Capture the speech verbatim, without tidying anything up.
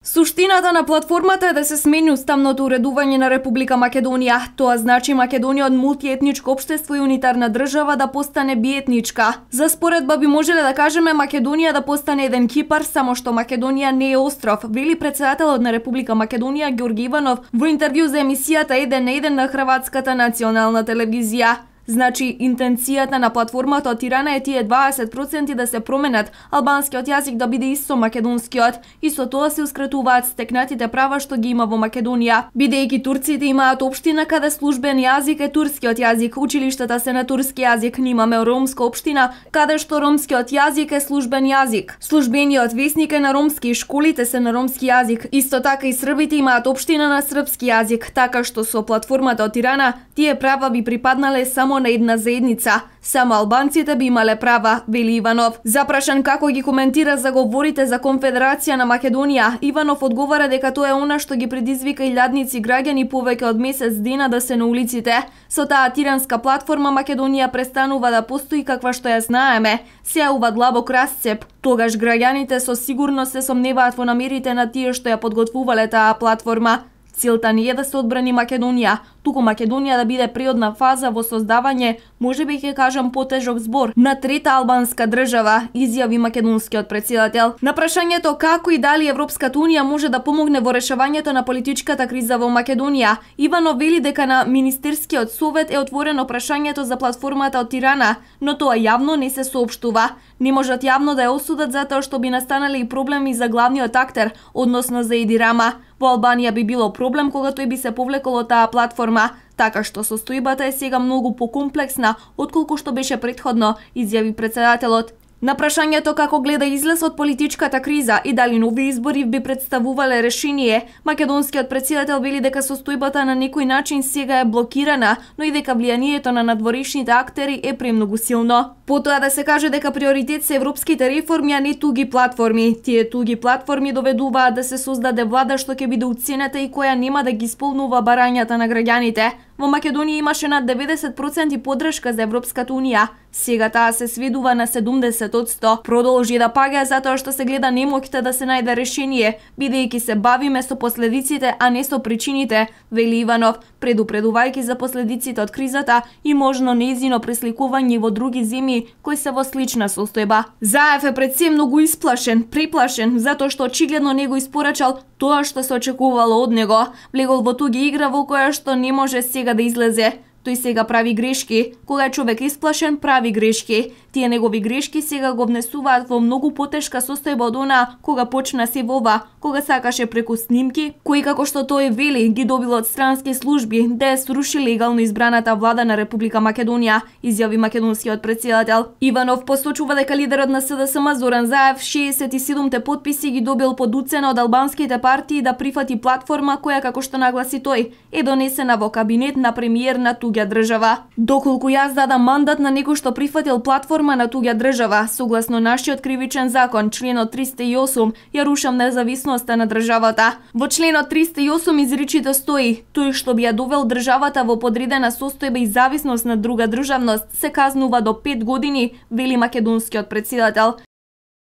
Суштината на платформата е да се смени уставното уредување на Република Македонија. Тоа значи Македонија од мултиетничко општество и унитарна држава да постане биетничка. За споредба би можеле да кажеме Македонија да постане еден Кипар, само што Македонија не е остров, вели претседателот на Република Македонија Ѓорги Иванов во интервју за емисијата еден на еден на Хрватската национална телевизија. Значи, интенцијата на платформата од Тирана е тие дваесет проценти да се променат, албанскиот јазик да биде исто македонскиот, и со тоа се ускратуваат стекнатите права што ги има во Македонија. Бидејќи турците имаат општина каде службен јазик е турскиот јазик, училиштата се на турски јазик, имаме ромска општина каде што ромскиот јазик е службен јазик. Службениот весник е на ромски и школите се на ромски јазик. Исто така и србите имаат општина на српски јазик, така што со платформата од Тирана тие права би припаднале само на една заедница. Само албанците би имале права, вели Иванов. Запрашан како ги коментира заговорите за Конфедерација на Македонија, Иванов одговара дека тоа е она што ги предизвика илјадници граѓани повеќе од месец дена да се на улиците. Со таа тиранска платформа Македонија престанува да постои каква што ја знаеме. Се јавува длабок расцеп. Тогаш граѓаните со сигурност се сомневаат во намерите на тие што ја подготвувале таа платформа. Целта не е да се одбрани Македонија, туку Македонија да биде приодна фаза во создавање, можеби ќе кажам потежок збор, на трета албанска држава, изјави македонскиот претседател. На прашањето како и дали Европската унија може да помогне во решавањето на политичката криза во Македонија, Иванов вели дека на Министерскиот совет е отворено прашањето за платформата од Тирана, но тоа јавно не се соопштува. Не можат јавно да ја осудат затоа што би настанале и проблеми за главниот актер, односно за Еди Рама. Во Албанија би било проблем кога тој би се повлекол од таа платформа, така што состојбата е сега многу покомплексна отколку што беше претходно, изјави претседателот. На прашањето како гледа излез од политичката криза и дали нови избори би представувале решение, македонскиот претседател вели дека состојбата на некој начин сега е блокирана, но и дека влијанието на надворешните актери е премногу силно. Потоа да се каже дека приоритет се европските реформи, а не туги платформи. Тие туги платформи доведуваат да се создаде влада што ќе биде уценета и која нема да ги исполнува барањата на граѓаните. Во Македонија имаше над деветдесет проценти поддршка за Европската унија. Сега таа се сведува на седумдесет одсто. Продолжи да паѓа затоа што се гледа немоќта да се најде решение, бидејќи се бавиме со последиците, а не со причините, вели Иванов, предупредувајќи за последиците од кризата и можно нејзино пресликување во други земји кои се во слична состојба. Заев е пред се многу исплашен, приплашен, затоа што очигледно не го испорачал тоа што се очекувало од него. Влегол во туга игра во која што не може сега да излезе. Тој сега прави грешки. Кога е човек исплашен, прави грешки. Тие негови грешки сега го внесуваат во многу потешка состојба од она кога почна се вова, кога сакаше преку снимки, кои како што тој вели ги добил од странски служби да ја сруши легално избраната влада на Република Македонија, изјави македонскиот претседател. Иванов посочува дека лидерот на СДСМ Зоран Заев шеесет и седумте потписи ги добил под уцена од албанските партии да прифати платформа која, како што нагласи тој, е донесена во кабинет на премиер на туѓа држава. Доколку јас дадам мандат на некој што прифатил платформа на туѓа држава, согласно нашиот кривичен закон, членот триста и осум, ја рушам независноста на државата. Во членот триста и осум изричито стои: тој што би ја довел државата во подредена состојба и зависност на друга државност се казнува до пет години, вели македонскиот претседател.